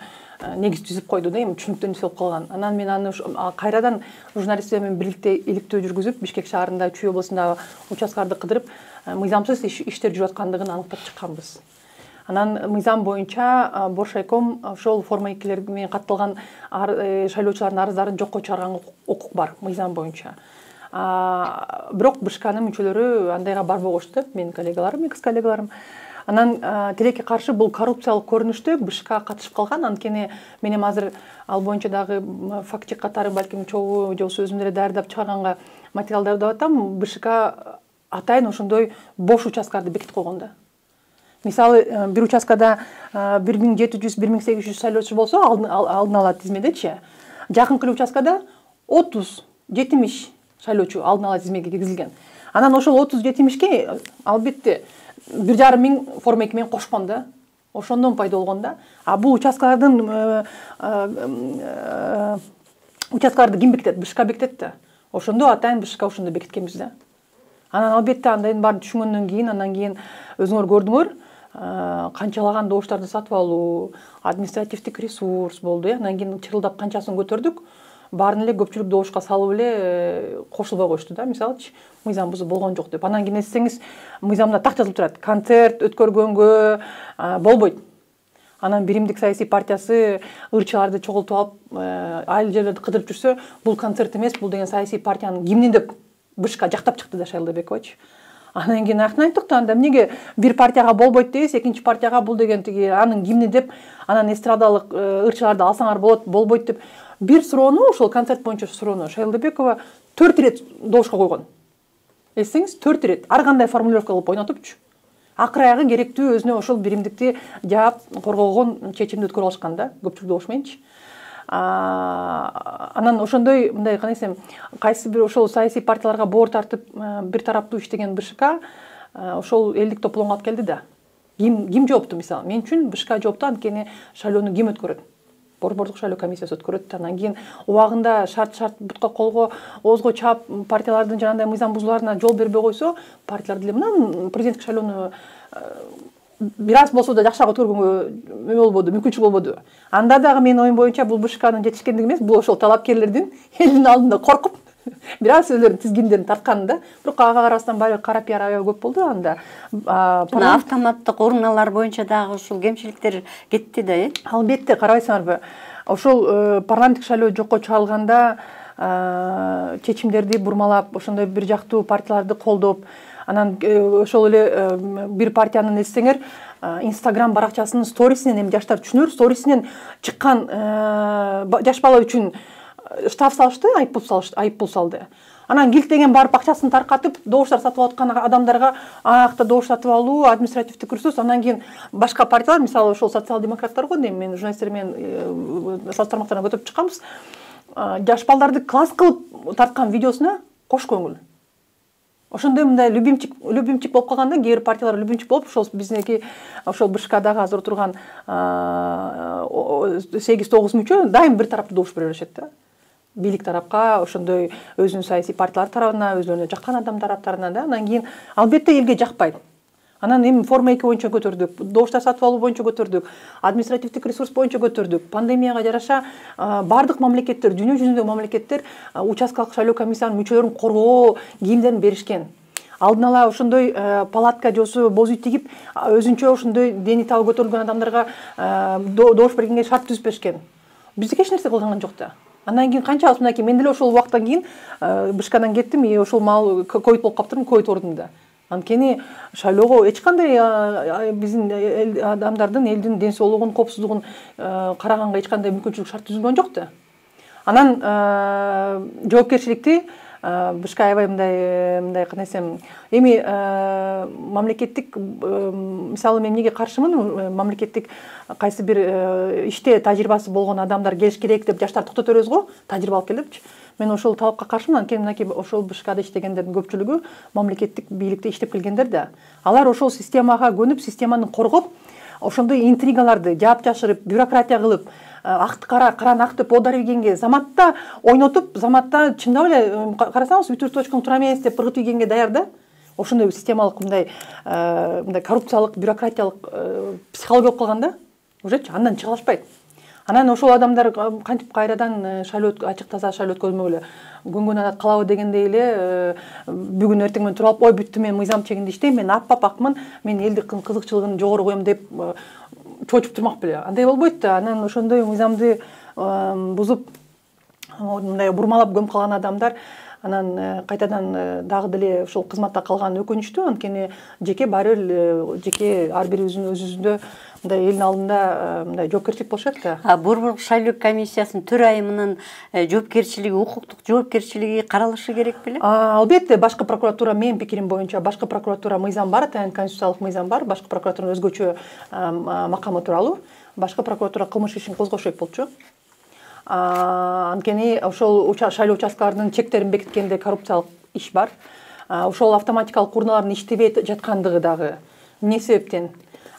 негиз түзүп койду да, эми түшүнүктүү нерсе болуп калган. Анан мен аны кайрадан журналисттер менен бирликте иликтөө жүргүзүп, Бишкек шаарында, Чүй облусунда участкаларды кыдырып, мыйзамсыз иштер жүрүп аткандыгын аныктап чыкканбыз. Анан мыйзам боюнча Боршайком ошол Форма экилер менен катталган шайлоочулардын арыздарын жокко чыгарганга укук бар мыйзам боюнча. Бирок БШКнын мүчөлөрү андайга барбогочту, менин коллегаларым, экс коллегаларым. Анан тилекке каршы бул коррупциялык көрүнүштө БШК катышып калган. Анткени мен эми азыр ал боюнча дагы факт чек катары балким чогуу же болбосо өзүм деле даярдап чыгарганга материалдарды деп атам. БШК атайын ошондой бош участкаларды бекитип койгон да. Мисалы, бир участкада бир миң жети жүз — бир миң сегиз жүз шайлоочу болсо, алдын ала тизмедечи, жакынкы участкада отуз жетимиш шайлоочу алдын ала тизмеге киргизилген. Анан ошол отуз жетимишке албетте бир жарым миң Форма эки менен кошкон да. Ошондон пайда болгон да. А бул участкалардын участкаларды ким бекитет? БШК бекитет да. Ошондо атайын БШК ошондо бекиткенбиз да. Анан албетте андайдын баарын түшүнгөндөн кийин, анан кийин өзүңөр көрдүңөр, канчалаган добуштарды сатып алуу, административдик ресурс болду, э. Анан кийин чырылдап канчасын көтөрдүк, баарын эле көпчүлүк добушка салып эле кошулбай коюшту да, мисалычы, мыйзам бузуу болгон жок деп. Анан кийин эсесеңиз, мыйзамда так жазылып турат: концерт өткөргөнгө болбойт. Анан биримдик саясий партиясы ырчыларды чогултуп алып, айыл жерлерди кыдырып жүрсө, бул концерт эмес, бул деген саясий партиянын гимни деп БШК жактап чыкты да Шайлдабекович. Анан кийин аяктан айттык да, анда эмнеге бир партияга болбойт дейбиз, экинчи партияга бул деген тиги анын гимни деп, анан эстрадалык ырчыларды алсаңар болот, болбойт деп бир суроону, ошол концерт боюнча суроону Шайлдабекова төрт ирет добушка койгон. Эсеңиз, төрт ирет ар кандай формулировка кылып ойнотупчу. Акыр аягы керектүү өзүнө ошол биримдикти жаап коргогон чечимди өткөрүп алышкан да, көпчүлүк добуш мененчи. Анан ошондой мындай канесем, кайсы бир ошол саясий партияларга боор тартып бир тараптуу иштеген БШК ошол элдик тополоңго алып келди да. Ким ким жоопту мисалы? Мен үчүн БШК жоопту, анткени шайлоону ким өткөрөт? Борбордук шайлоо комиссиясы өткөрөт. Анан кийин убагында шарт шарт бутка колго оозго чаап партиялардын жанагындай мыйзам бузууларына жол бербей койсо, партиялар деле мына президенттик шайлоону бир аз болсо да жакшыраак өткөргөнгө эме болбоду, мүмкүнчүлүк болбоду. Анда дагы менин оюм боюнча бул БШКнын жетишкендиги эмес, бул ошол талапкерлердин элдин алдында коркуп бир аз өзлөрүнүн тизгиндерин тартканы да. Бирок ага карабастан баягы кара пиар аябай көп болду анда. Мына автоматтык урналар боюнча дагы ушул кемчиликтер кетти да, э? Албетте, карабайсыңарбы? Ошол парламенттик шайлоо жокко чыгарылганда чечимдерди бурмалап, ошондой бир жактуу партияларды колдоп, анан ошол эле бир партиянын эзсеңер Instagram баракчасынын сторисинен, эми жаштар түшүнөр, сторисинен чыккан жаш бала үчүн штраф салышты, айыппул салышты, айыппул салды. Анан килтеген барып акчасын таркатып, добуштар сатып аткан адамдарга акта добуш сатып алуу, административдик ресурс, анан кийин башка партиялар, мисалы ошол социал-демократтар го, эми мен журналисттер менен салыштырмактарына көтөрүп чыкканбыз. Жаш балдарды класс кылып тарткан видеосуна кош көңүл. Ошондой мындай любимчик, любимчик болуп калганда, кээ бир партиялар любимчик болуп, ошол биздики ошол БШКдагы азыр отурган сегиз тогуз мүчө дайым бир тараптуу добуш бере беришет да. Бийлик тарапка, ошондой өзүнүн саясий партиялар тарабына, өзүлөрүнө жаккан адамдар тараптарына да. Анан кийин албетте элге жакпайт. Анан эми форма эки боюнча көтөрдүк, добуштар сатып алуу боюнча көтөрдүк, административдик ресурс боюнча көтөрдүк. Пандемияга жараша бардык мамлекеттер, дүйнө жүзүндөгү мамлекеттер участкалык шайлоо комиссиянын мүчөлөрүн коргоо кийимдерин беришкен. Алдын ала ошондой палатка жосу боз үй тигип, өзүнчө ошондой дени табы көтөрүлгөн адамдарга добуш бергенге шарт түзүп беришкен. Бизде эч нерсе кылган жок да. Андан кийин канчабыз мынакей, мен деле ошол убакыттан кийин БШКдан кеттим, и ошол маал ковид болуп калыптырмын, ковид ордунда. Анткени шайлоого эч кандай биздин адамдардын, элдин ден соолугун, коопсуздугун караганга эч кандай мүмкүнчүлүк шарт түзүлгөн жок да. Анан жоопкерчиликти БШК аябай мындай мындай кандай десем, эми мамлекеттик, мисалы мен эмнеге каршымын, мамлекеттик кайсы бир иште тажрыйбасы болгон адамдар келиш керек деп жаштар токтоп беребиз го, тажрыйба алып кел депчи. Мен ошол талапка каршымын, анткени мынакей ошол БШКда иштегендердин көпчүлүгү мамлекеттик бийликте иштеп келгендер да. Алар ошол системага көнүп, системаны коргоп, ошондой интригаларды жаап жашырып, бюрократия кылып, акты кара, караны ак деп оодар ийгенге, заматта ойнотуп, заматта чындап эле карасаңыз бүтүр точкаң тура эмес деп ыргытып ийгенге даяр да. Ошондой системалык мындай мындай коррупциялык, бюрократиялык психология болуп калганда, ужечи андан чыга алышпайт. Анан ошол адамдар кантип кайрадан шайлоо ачык таза шайлоо өткөзмөкүлө көнгөн адат калабы дегендей эле бүгүн эртең менен туруп алып, ой бүттү, мен мыйзам чегинде иштейм, мен аппап акмын, мен элдин кызыкчылыгын жогору коем деп чоочуп турмак беле. Андай болбойт да. Анан ошондой мыйзамды бузуп, мындай бурмалап көмүп калган адамдар анан кайтадан дагы деле ошол кызматта калганы өкүнүчтүү, анткени жеке баары бир жеке ар бирибиздин өзүбүздө мындай элдин алдында мындай жоопкерчилик болуш керек да. Борбордук шайлоо комиссиясынын төрайымынын жоопкерчилиги, укуктук жоопкерчилиги каралышы керек беле? Албетте, башкы прокуратура, менин пикирим боюнча, башкы прокуратура мыйзам бар, атайын конституциялык мыйзам бар, башкы прокуратуранын өзгөчө макамы тууралуу. Башкы прокуратура кылмыш ишин козгош керек болчу. Анткени ошол шайлоо участкаларынын чектерин бекиткенде коррупциялык иш бар. Ошол автоматикалык урналардын иштебей жаткандыгы дагы эмне себептен?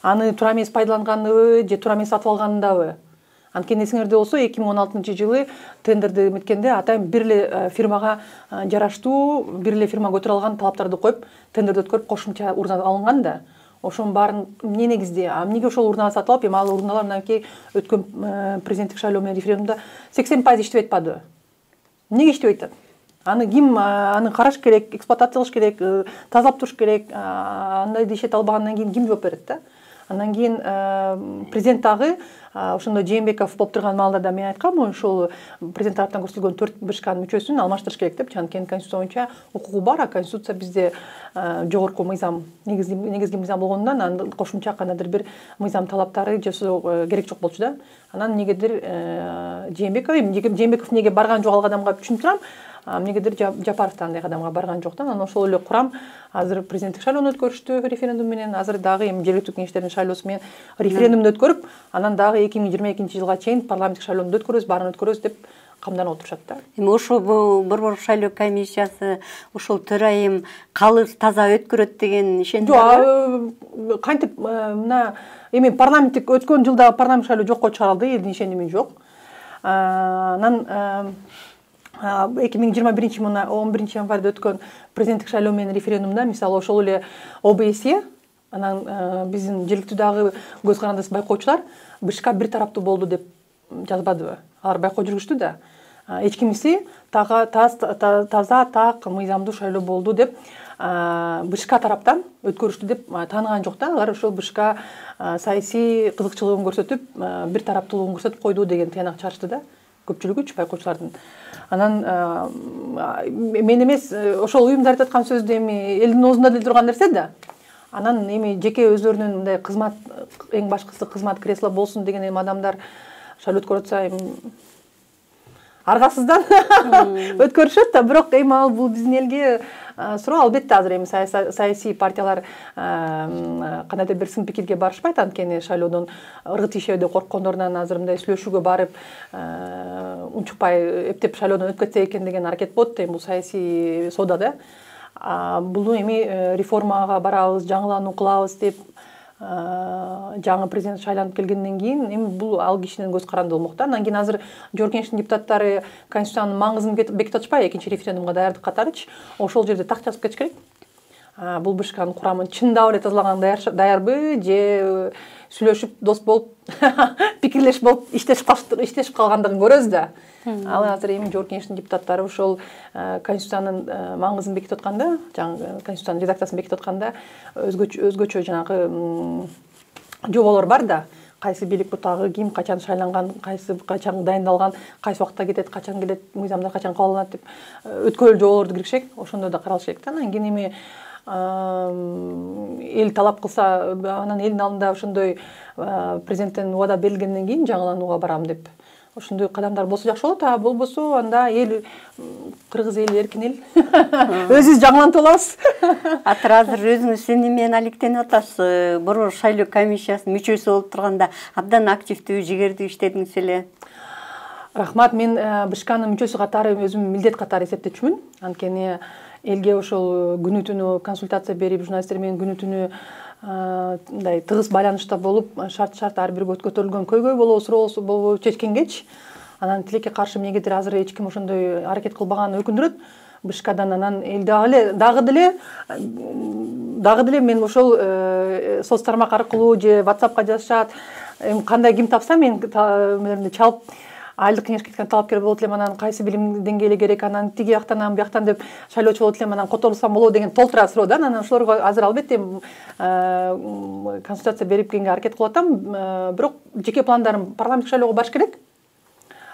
Аны туура эмес пайдаланганыбы же туура эмес сатып алгандабы? Анткени эсиңерде болсо эки миң он алтынчы жылы тендерди эметкенде атайын бир эле фирмага жараштуу, бир эле фирма көтөрө алган талаптарды коюп, тендерди өткөрүп кошумча урна алынган да. Ошонун баарын эмне негизде? А эмнеге ошол урнаны сатып алып, эми ал урналар мынакей өткөн президенттик шайлоо менен референдумда сексен пайыз иштебей атпады? Эмнеге иштебей атат? Аны ким аны караш керек, эксплуатация кылыш керек, тазалап туруш керек. Андайды иштете албагандан кийин ким жооп берет да? Андан кийин президент дагы ошондой Жээнбеков болуп турган маалда да мен айткам, ошол президент тараптан көрсөтүлгөн төрт БШКнын мүчөсүн алмаштырыш керек деп, анткени конституция боюнча укугу бар, а конституция бизде жогорку мыйзам, негизги негизги мыйзам болгондон андан кошумча кандайдыр бир мыйзам талаптары жасоо керек жок болчу да. Анан эмнегедир Жээнбеков, Жээнбеков эмнеге барган жок ал кадамга түшүнүп турам. Эмнегедир Жапаров да андай кадамга барган жок да. Анан ошол эле курам азыр президенттик шайлоону өткөрүштү референдум менен, азыр дагы эми жергиликтүү кеңештердин шайлоосу менен референдумду өткөрүп, анан дагы эки миң жыйырма экинчи жылга чейин парламенттик шайлоону өткөрөбүз, баарын өткөрөбүз деп камданып отурушат да. Эми ошол борбордук шайлоо комиссиясы ошол төрайым калыс таза өткөрөт деген ишендиң барбы? Жок, кантип мына эми парламенттик өткөн жылда парламент шайлоо жокко чыгарылды, элдин ишеними жок. Анан эки миң жыйырма биринчи мына он биринчи январда өткөн президенттик шайлоо менен референдумда, мисалы ошол эле ОБСЕ, анан биздин жергиликтүү дагы көз карандысыз байкоочулар БШК бир тараптуу болду деп жазбадыбы? Алар байкоо жүргүздү да. Эч кимиси таза, так, мыйзамдуу шайлоо болду деп БШК тараптан өткөрүштү деп тааныган жок да. Алар ошол БШК саясий кызыкчылыгын көрсөтүп, бир тараптуулугун көрсөтүп койду деген тыянак чыгарышты да. Көпчүлүгүчү байкоочулардын. Анан мен эмес ошол уюмдар айтып аткан сөздү эми элдин оозунда деле турган нерсе да. Анан эми жеке өздөрүнүн мындай кызмат, эң башкысы кызмат кресло болсун деген эми адамдар шайлоо өткөрүп атса эми аргасыздан өткөрүшөт да, бирок эми ал бул биздин элге суроо. Албетте азыр эми саясий партиялар кандайдыр бир сын пикирге барышпайт, анткени шайлоодон ыргыт ишөөдө корккондорунан азыр мындай сүйлөшүүгө барып унчукпай эптеп шайлоодон өтүп кетсе экен деген аракет болот. Эми бул саясий соода да. Бул эми реформага барабыз, жаңылануу кылабыз деп жаңы президент шайланып келгенден кийин эми бул ал кишинин көз каранды болмок да. Андан кийин азыр Жогорку Кеңештин депутаттары Конституциянын маңызын бекитип атышпайбы, экинчи референдумга даярдык катарычы. Ошол жерде так жазып кетиш керек. Бул БШКнын курамын чындап эле тазалаганга даярбы же сүйлөшүп дос болуп пикирлешип болуп иштешип калгандыгын көрөбүз да. Ал азыр эми Жогорку Кеңештин депутаттары ошол Конституциянын маңызын бекитип атканда, жаңы Конституциянын редакциясын бекитип атканда өзгөчө өзгөчө жанагы жоболор бар да. Кайсы бийлик бутагы ким качан шайланган, кайсы качан дайындалган, кайсы убакта кетет, качан келет, мыйзамдар качан кабыл алынат деп өткөрүлүү жоболорду киргизишек. Ошондо да каралыш керек да. Анан кийин эми эл талап кылса, анан элдин алдында ошондой президенттен убада берилгенден кийин жаңыланууга барам деп ошондой кадамдар болсо жакшы болот. А болбосо анда эл кыргыз эли эркин эл өзүбүз жаңылантып алабыз. Атыр азыр өзүңүз эмне менен алектенип атасыз? Борбор шайлоо комиссиясынын мүчөсү болуп турганда абдан активдүү, жигердүү иштедиңиз эле. Рахмат. Мен БШКнын мүчөсү катары өзүм милдет катары эсептечүмүн. Анткени элге ошол күнү түнү консультация берип, журналисттер менен күнү түнү мындай тыгыз байланышта болуп, шарт шарт ар бир көтөрүлгөн көйгөй болобу, суроо болобу чечкенгечи, анан тилекке каршы эмнегедир азыр эч ким ошондой аракет кылбаганы өкүндүрөт. БШКдан анан эл дагы дагы деле дагы деле мен ошол соц тармак аркылуу же WhatsAppка жазышат. Эми кандай ким тапса мен мелеримди чалып айлык кеңешке кеткен талапкер болот элем, анан кайсы билим деңгээли керек, анан тиги жактан анан бияктан деп шайлоочу болот элем, анан которулсам болобу деген толтура суроо да. Анан ошолорго азыр албетте консультация берип келгенге аракет кылып атам, бирок жеке пландарым парламенттик шайлоого барыш керек.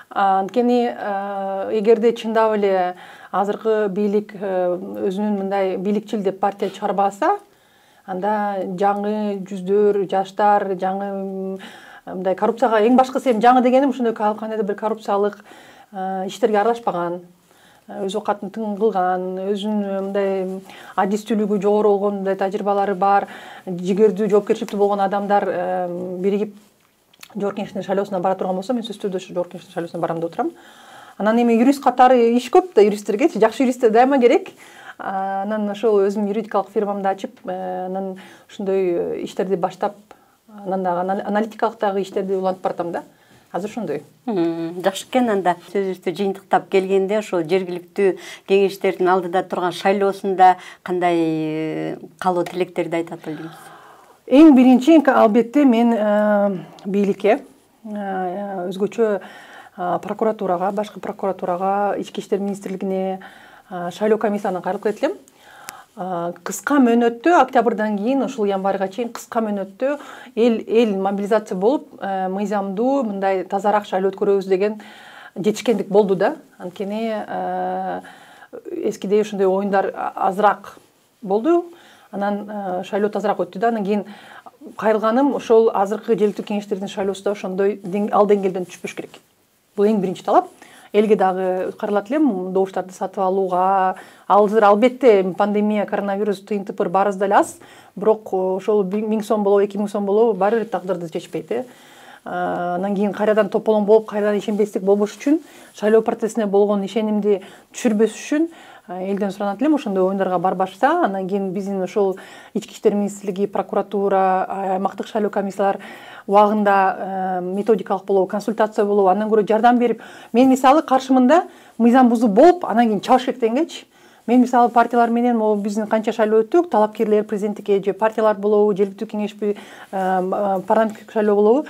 Анткени эгерде чындап эле азыркы бийлик өзүнүн мындай бийликчил деп партия чыгарбаса, анда жаңы жүздөр, жаштар, жаңы мындай коррупцияга эң башкысы эми жаңы дегеним ошондой кандайдыр бир коррупциялык иштерге аралашпаган, өз оокатын тың кылган, өзүнүн мындай адистүүлүгү жогору болгон мындай тажрыйбалары бар, жигердүү, жоопкерчиликтүү болгон адамдар биригип Жогорку Кеңештин шайлоосуна бара турган болсо, мен сөзсүз түрдө Жогорку Кеңештин шайлоосуна барам деп отурам. Анан эми юрист катары иш көп да, юристтерге жакшы юристтер дайыма керек. Анан ошол өзүм юридикалык фирмамды ачып, анан ошондой иштерди баштап, анан дагы аналитикалык дагы иштерди улантып баратам да. Азыр ошондой. Жакшы экен. Анда сөзүбүздү жыйынтыктап келгенде ошол жергиликтүү кеңештердин алдыда турган шайлоосунда кандай каалоо тилектерди айтат элеңиз? Эң биринчи албетте мен бийликке, өзгөчө прокуратурага, башкы прокуратурага, ички иштер министрлигине, шайлоо комиссиясына кайрылып кетет элем. Кыска мөөнөттө, октябрдан кийин ушул январга чейин кыска мөөнөттө эл эл мобилизация болуп, мыйзамдуу мындай тазараак шайлоо өткөрөбүз деген жетишкендик болду да. Анткени эскидей ошондой оюндар азыраак болду. Анан шайлоо тазараак өттү да. Анан кийин кайрылганым ошол азыркы жергиликтүү кеңештердин шайлоосу да ошондой ал деңгээлден түшпөш керек. Бул эң биринчи талап. Элге дагы кайрылат элем, добуштарды сатып алууга. Азыр албетте пандемия, коронавирус тыйын тыпыр баарыбызда эле аз, бирок ошол миң сом болобу, эки миң сом болобу, баары бир тагдырды чечпейт э. Анан кийин кайрадан тополоң болуп, кайрадан ишенбестик болбош үчүн, шайлоо процессине болгон ишенимди түшүрбөш үчүн элден суранат элем ошондой оюндарга барбашса. Анан кийин биздин ошол ички иштер министрлиги, прокуратура, аймактык шайлоо комиссиялар убагында методикалык болобу, консультация болобу, андан көрө жардам берип, мен мисалы каршымында мыйзам бузуу болуп, анан кийин чабыш керек дегенчи. Мен мисалы партиялар менен могу биздин канча шайлоо өттүк, талапкерлер президенттикке же партиялар болобу, жергиликтүү кеңешпи, парламенттик шайлоо болобу,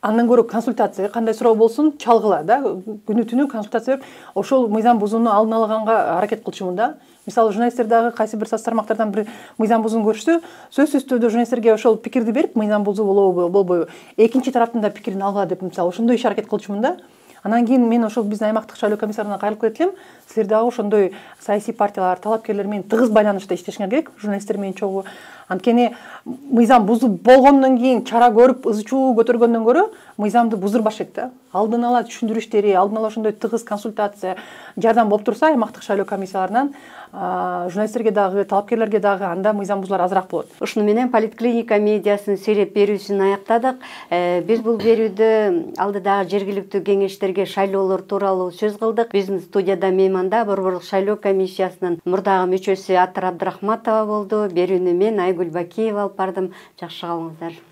андан көрө консультация, кандай суроо болсун, чалгыла да, күнү түнү консультация берип, ошол мыйзам бузууну алдын алаганга аракет кылчумун да. Мисалы журналисттер дагы кайсы бир соц тармактардан бир мыйзам бузууну көрүшсө, сөзсүз түрдө журналисттерге ошол пикирди берип, мыйзам бузуу болобу, болбойбу, экинчи тараптын да пикирин алгыла деп, мисалы ошондой иш аракет кылчумун да. Анан кийин мен ошол биздин аймактык шайлоо комиссарына кайрылып кетип элем. Силер дагы ошондой саясий партиялар, талапкерлер менен тыгыз байланышта иштешиңер керек, журналисттер менен чогуу. Анткени мыйзам бузуп болгондон кийин чара көрүп ызы чуу көтөргөндөн көрө мыйзамды буздурбаш керек да. Алдын ала түшүндүрүү иштери, алдын ала ошондой тыгыз консультация, жардам болуп турса аймактык шайлоо комиссияларынан журналисттерге дагы, талапкерлерге дагы анда мыйзам бузуулар азыраак болот. Ушуну менен Политклиника медиасынын сереп берүүсүн аяктадык. Биз бул берүүдө алдыдагы жергиликтүү кеңештерге шайлоолор тууралуу сөз кылдык. Биздин студияда мейманда Борбордук шайлоо комиссиясынын мурдагы мүчөсү Атыр Абдрахматова болду. Берүүнү мен Айгүл Бакиева алып бардым. Жакшы калыңыздар.